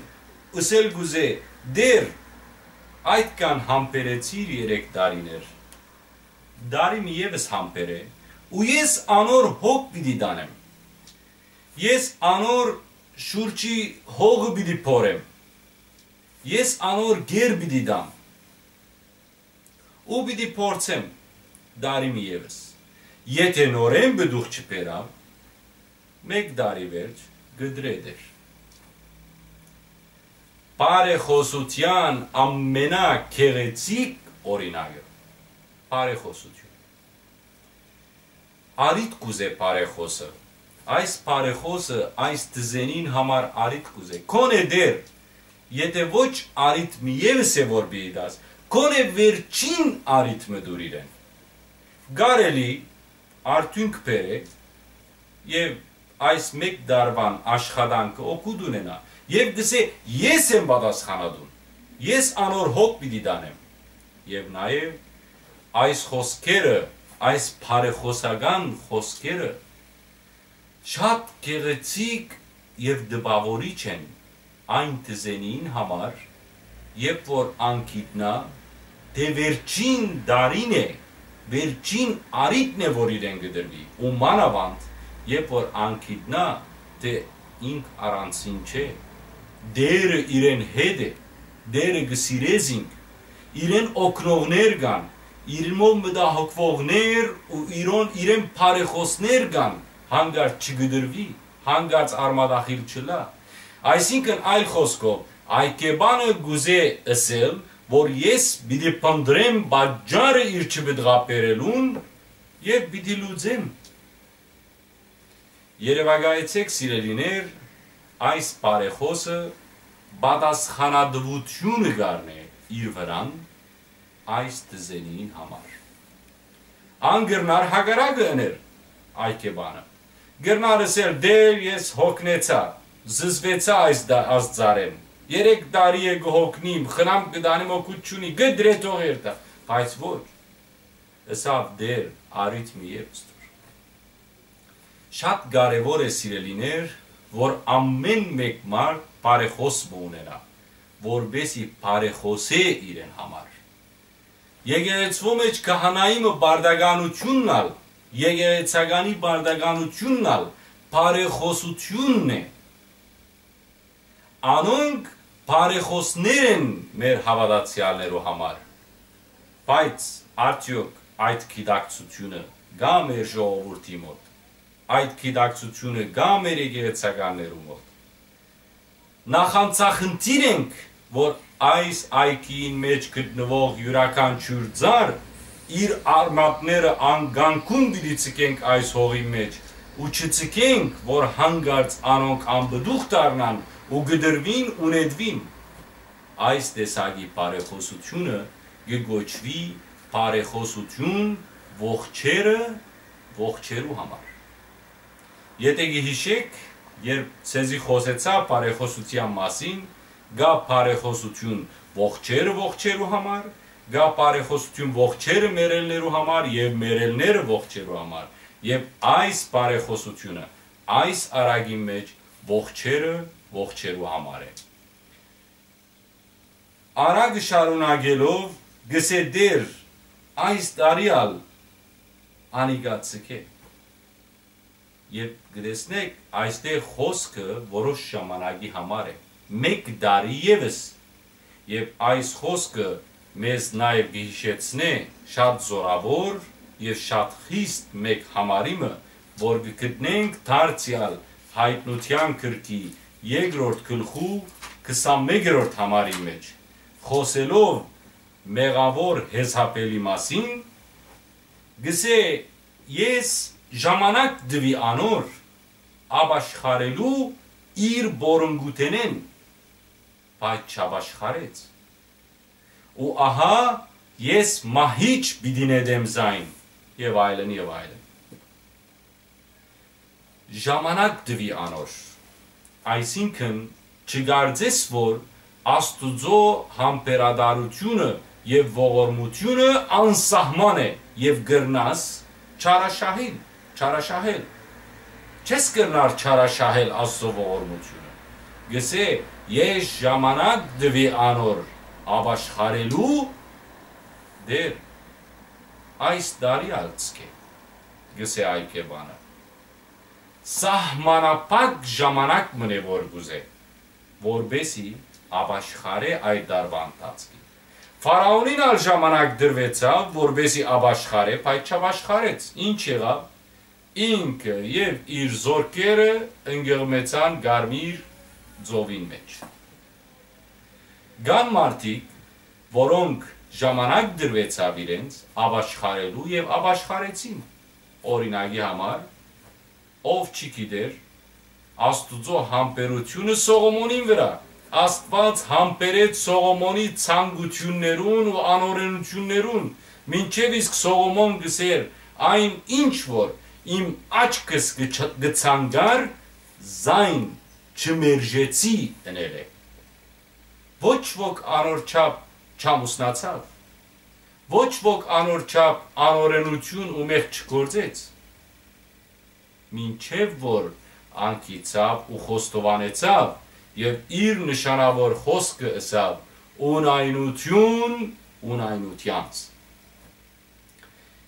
ըսել կ'ուզէ. «Տէր, այդքան համբերեցիր երեք տարիներ, տարի մը եւս համբերէ, ու ես անոր հոգ պիտի տանեմ։ Ես անոր շուրջի հողը պիտի փորեմ։ Ես անոր գեր պիտի տամ ու պիտի փորձեմ տարի մը եւս։ Եթէ նորէն պտուղ չբերաւ, մէկ տարի վերջ կտրէ Տէր»։ Բարեխօսութեան ամենագեղեցիկ օրինակը։ Բարեխօսութիւն։ Առիթ կ'ուզէ բարեխօսը։ Այս բարեխօսը այս դզենին համար առիթ կ'ուզէ։ Քոնէ Տէր, եթէ ոչ առիթ մը եւս է որ պիտի տաս, քոնէ վերջին առիթ մը տուր իրեն։ Կարելի արդիւնք բերէ եւ այս մէկ տարուան աշխատանքը օգուտ ունենայ, եւ կ'ըսէ. «Ես եմ պատասխանատուն, ես անոր հոգ պիտի տանեմ»։ Եւ նաեւ այս խօսքերը, այս բարեխօսական խօսքերը շատ գեղեցիկ եւ տպաւորիչ են այն դզենին համար, երբ որ ան գիտնայ թէ վերջին տարին է, վերջին առիթն է որ իրեն կը տրուի, ու մանաւանդ երբ որ ան գիտնայ թէ ինք առանձին չէ, Տէրը իրեն հետ է, Տէրը կը սիրէ զինք, իրեն օգնողներ կան, իրմով մտահոգուողներ ու իրոն իրեն բարեխօսներ կան, հանկարծ չկտրուի, հանկարծ արմատախիլ չըլլայ։ Այսինքն, այլ խօսքով, այ կեբանը կ'ուզէ ըսել, որ ես պիտի փնտռեմ պատճառը իր չպտղաբերելուն եւ պիտի լուծեմ։ Երեւակայեցէք, սիրելիներ, այս բարեխօսը պատասխանատուութիւնը կ'առնէ իր վրան այս դզենին համար։ Ան կրնար հակառակը ընել, այ կեբանը։ Կրնար ըսել. «Տէր, ես յոգնեցայ, զզուեցայ այս դա-, այս ծառէն։ Երեք տարի է կը յոգնիմ, խնամք կը տանիմ, օգուտ չունի, կտրէ թող երթայ»։ Բայց ոչ, ըսաւ. «Տէր, առիթ մը եւս տուր»։ Շատ կարեւոր է, սիրելիներ, որ ամէն մէկ մարդ բարեխօս մը ունենայ, որպէս զի բարեխօսէ իրեն համար։ Եկեղեցւոյ մէջ քահանայի մը պարտականութիւնն ալ, եկեղեցականի պարտականութիւնն ալ բարեխօսութիւնն է։ Անոնք բարեխօսներ են մեր հաւատացեալներու համար, բայց արդեօք այդ գիտակցութիւնը կա՞ մեր ժողովուրդի մօտ, այդ գիտակցութիւնը կա՞ մեր եկեղեցականներու մօտ։ Նախանձախնդիր ենք, որ այս այգիին մէջ գտնուող իւրաքանչիւր ծառ իր արմատները անկանկուն պիտի ձգենք այս հողի մէջ ու չձգենք, որ հանկարծ անոնք անպտուղ դառնան ու կտրուին ու նետուին։ Այս տեսակի բարեխօսութիւնը կը կոչուի բարեխօսութիւն ողջերը ողջերու համար։ Եթէ կը յիշէք, երբ ձեզի խօսեցայ բարեխօսութեան մասին, կայ բարեխօսութիւն ողջերը ողջերու համար, կայ բարեխօսութիւն ողջերը մեռելներու համար եւ մեռելները ողջերու համար, եւ այս բարեխօսութիւնը այս առակին մէջ ողջերը ողջերու համար է։ Առակը շարունակելով կ'ըսէ. «Տէր, այս տարի ալ անիկա ձգէ»։ Երբ կը տեսնէք, այստեղ խօսքը որոշ ժամանակի համար է, մէկ տարի եւս, եւ այս խօսքը մեզ նաեւ կը յիշեցնէ շատ զօրաւոր եւ շատ խիստ մէկ համարի մը, որ կը գտնենք դարձեալ Յայտնութեան գրքի երկրորդ գլխու քսանմեկերորդ համարի մէջ, խօսելով մեղաւոր Յեզապէլի մասին, կ'ըսէ. «Ես ժամանակ տուի անոր ապաշխարելու իր բորունգութենէն, բայց չապաշխարեց։ Ու ահա Ես մահիճ պիտի նետեմ զայն, եւ այլն, եւ այլն։ Ժամանակ տուի անոր, այսինքն՝ չկարծես որ Աստուծոյ համբերատարութիւնը եւ ողորմութիւնը անսահման է, եւ կրնաս չարաշահիլ, չարաշահել։ Չես կրնար չարաշահել Աստուծոյ ողորմութիւնը։ Կսէ. «Ես ժամանակ տուի անոր ապաշխարելու դեր, այս տարի ալ ցկէ», կսէ այկեպանը։ Սահմանափակ ժամանակ մըն է որ կուզէ, որպեսի ապաշխարէ այդ տարուան ընթացքին։ Ֆարաոնին ալ ժամանակ տրուեցաւ, որպեսի ապաշխարէ, բայց չապաշխարեց։ Ինչ եղաւ։ Ինքը եւ իր զորքերը ընկղմեցան Կարմիր ծովին մէջ։ Կան մարդիկ, որոնք ժամանակ տրուեցաւ իրենց ապաշխարելու եւ ապաշխարեցին։ Օրինակի համար, ով չի գիտեր Աստուծոյ համբերութիւնը Սողոմոնին վրայ։ Աստուած համբերեց Սողոմոնի ցանկութիւններուն ու անօրէնութիւններուն, մինչեւ իսկ Սողոմոն կսէր. «Այն ինչ որ իմ աչքս կը չ-, կը ցանկար, զայն չմերժեցի ընելէ»։ Ոչ ոք անոր չափ չամուսնացաւ, ոչ ոք անոր չափ անօրէնութիւն ու մեղք չգործեց, մինչեւ որ անկիցաւ ու խոստովանեցաւ եւ իր նշանաւոր խօսքը ըսաւ. «Ունայնութիւն, ունայնութեանց»։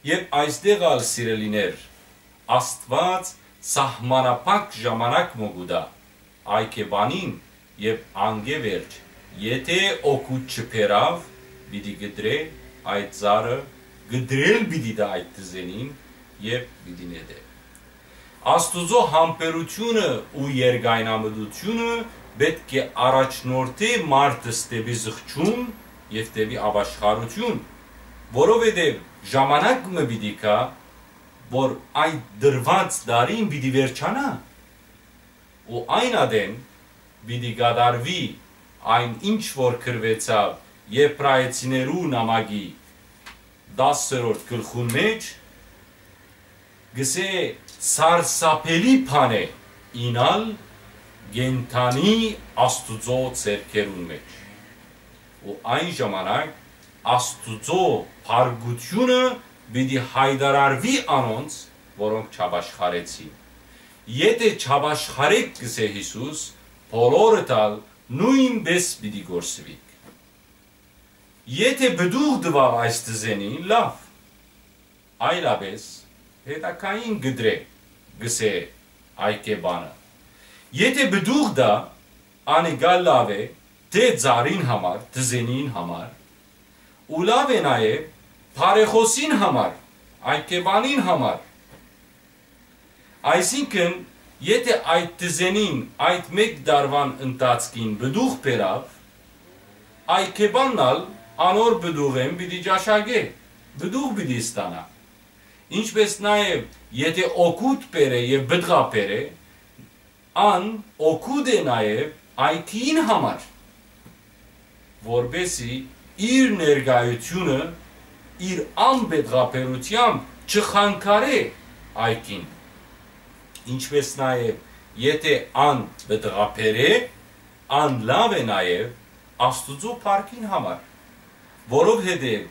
Եւ այստեղ ալ, սիրելիներ, Աստուած սահմանափակ ժամանակ մը կու տայ այկեպանին, եւ անկէ վերջ, եթէ օգուտ չբերաւ, պիտի կտրէ այդ ծառը, կտրել պիտի տայ այդ թզենին եւ պիտի նետէ։ Աստուծոյ համբերութիւնը ու երկայնամտութիւնը պէտք է առաջնորդէ մարդս դէպի զղջում եւ դէպի ապաշխարութիւն, որովհետեւ ժամանակ մը պիտի գայ, որ այդ տրուած տարին պիտի վերջանայ, ու այն ատեն պիտի կատարուի այն, ինչ որ գրուեցաւ Եբրայեցիներու նամակի տասերորդ գլխուն մէջ, կսէ. «Սարսափելի բան է իյնալ կենդանի Աստուծոյ ձեռքերուն մէջ»։ Ու այն ժամանակ Աստուծոյ փառքութիւնը պիտի յայտարարուի անոնց, որոնք չապաշխարեցին։ Եթէ չապաշխարէք, կսէ Յիսուս, բոլորդ ալ նոյնպէս պիտի կորսուիք։ Եթէ պտուղ տուաւ այս թզենին, լաւ, այլապէս հետագային կտրէ, կսէ այկեպանը։ Եթէ պտուղ տայ, անիկա լաւ է թէ ծառին համար, թզենին համար, ու լաւ է նաեւ բարեխօսին համար, այկեպանին համար։ Այսինքն, եթէ այդ թզենին այդ մէկ տարուան ընթացքին պտուղ բերաւ, այկեպանն ալ անոր պտուղէն պիտի ճաշակէ, պտուղ պիտի ստանայ։ Ինչպէս նաեւ, եթէ օգուտ բերէ եւ պտղաբերէ, ան օգուտ է նաեւ այգիին համար, որպէսզի իր ներկայութիւնը իր անպտղաբերութեամբ չխանգարէ այգին։ Ինչպէս նաեւ, եթէ ան պտղաբերէ, ան լաւ է նաեւ Աստուծոյ փառքին համար, որովհետեւ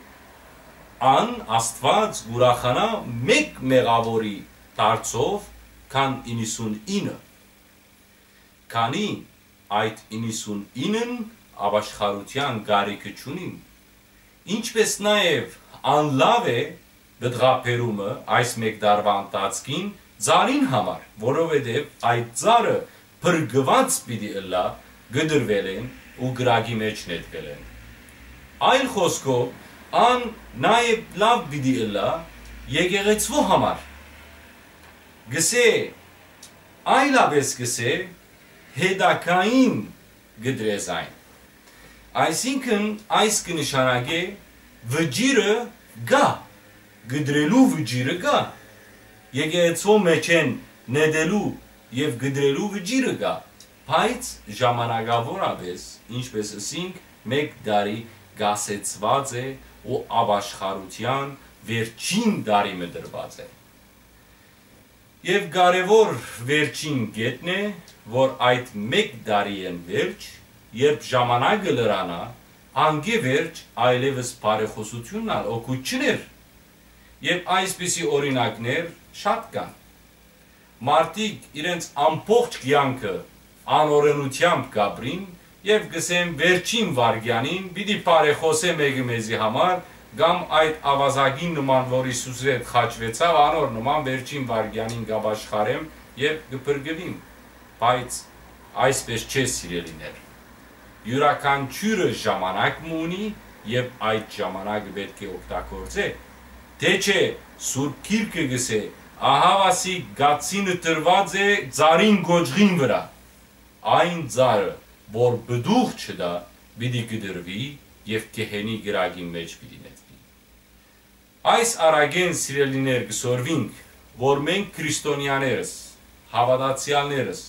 ան, Աստուած, կ'ուրախանայ մէկ մեղաւորի դարձով, քան իննսունինը, քանի այդ իննսունինն ապաշխարութեան կարիքը չունին։ Ինչպէս նաեւ ան լաւ է պտղաբերումը այս մէկ տարուան ընթացքին ծառին համար, որովհետեւ այդ ծառը փրկուած պիտի ըլլայ կտրուելէն ու կրակի մէջ նետուելէն։ Այլ խօսքով, ան նաեւ լաւ պիտի ըլլայ եկեղեցւոյ համար։ Կսէ, այլապէս կսէ, հետագային կտրէ զայն։ Այսինքն, այս կը նշանակէ, վճիռը կայ, կտրելու վճիռը կայ, եկեղեցւոյ մէջէն նետելու եւ կտրելու վճիռը կայ, բայց ժամանակաւորապէս, ինչպէս ըսինք, մէկ տարի կասեցուած է ու ապաշխարութեան վերջին տարի մը տրուած է։ Եւ կարեւոր վերջին կետն է, որ այդ մէկ տարիէն վերջ, երբ ժամանակը լրանայ, անկէ վերջ այլեւս բարեխօսութիւնն ալ օգուտ չուներ։ Եւ այսպիսի օրինակներ շատ կան։ Մարդիկ իրենց ամբողջ կեանքը անօրէնութեամբ կապրին եւ կ'ըսեն, վերջին վայրկեանին պիտի բարեխօսէ մէկը մեզի համար, կամ այդ աւազակին նման, որ Յիսուսի հետ խաչուեցաւ, անոր նման վերջին վայրկեանին կ'ապաշխարեմ եւ կը փրկուիմ։ Բայց այսպէս չէ, սիրելիներ։ Իւրաքանչիւրը ժամանակ մը ունի եւ այդ ժամանակը պէտք է օգտագործէ, թէ չէ Սուրբ Գիրքը կ'ըսէ, ահաւասիկ կացինը տրուած է ծառին կոճղին վրայ։ Այն ծառը, որ պտուղ չտայ, պիտի կտրուի եւ գեհենի կրակին մէջ պիտի նետուի։ Այս առակէն, սիրելիներ, կը սորվինք, որ մենք քրիստոնեաներս, հաւատացեալներս,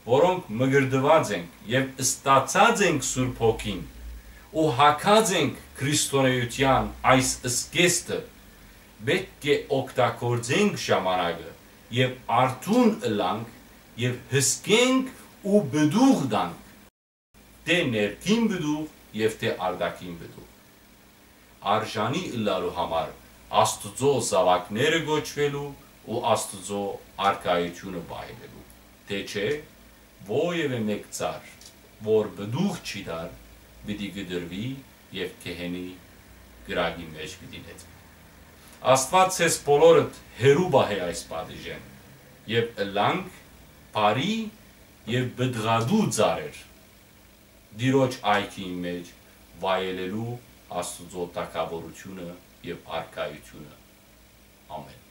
որոնք մկրտուած ենք եւ ստացած ենք Սուրբ Հոգին ու հագած ենք քրիստոնէութեան այս զգեստը, պէտք է օգտագործենք ժամանակը եւ արթուն ըլլանք եւ հսկենք ու պտուղ տանք, թէ ներքին պտուղ եւ թէ արտաքին պտուղ։ Արժանի ըլլալու համար Աստուծոյ զաւակները կոչուելու ու Աստուծոյ արքայութիւնը վայելելու, թէ չէ, որեւէ մէկ ծառ, որ պտուղ չի տար, պիտի կտրուի եւ գեհենի կրակի մէջ պիտի նետուի։ Աստուած ձեզ բոլորդ հեռու պահէ այս պատիժէն եւ ըլլանք բարի եւ պտղատու ծառեր Տիրոջ այգիին մէջ վայելելու Աստուծոյ թագաւորութիւնը եւ արքայութիւնը։ Ամէն։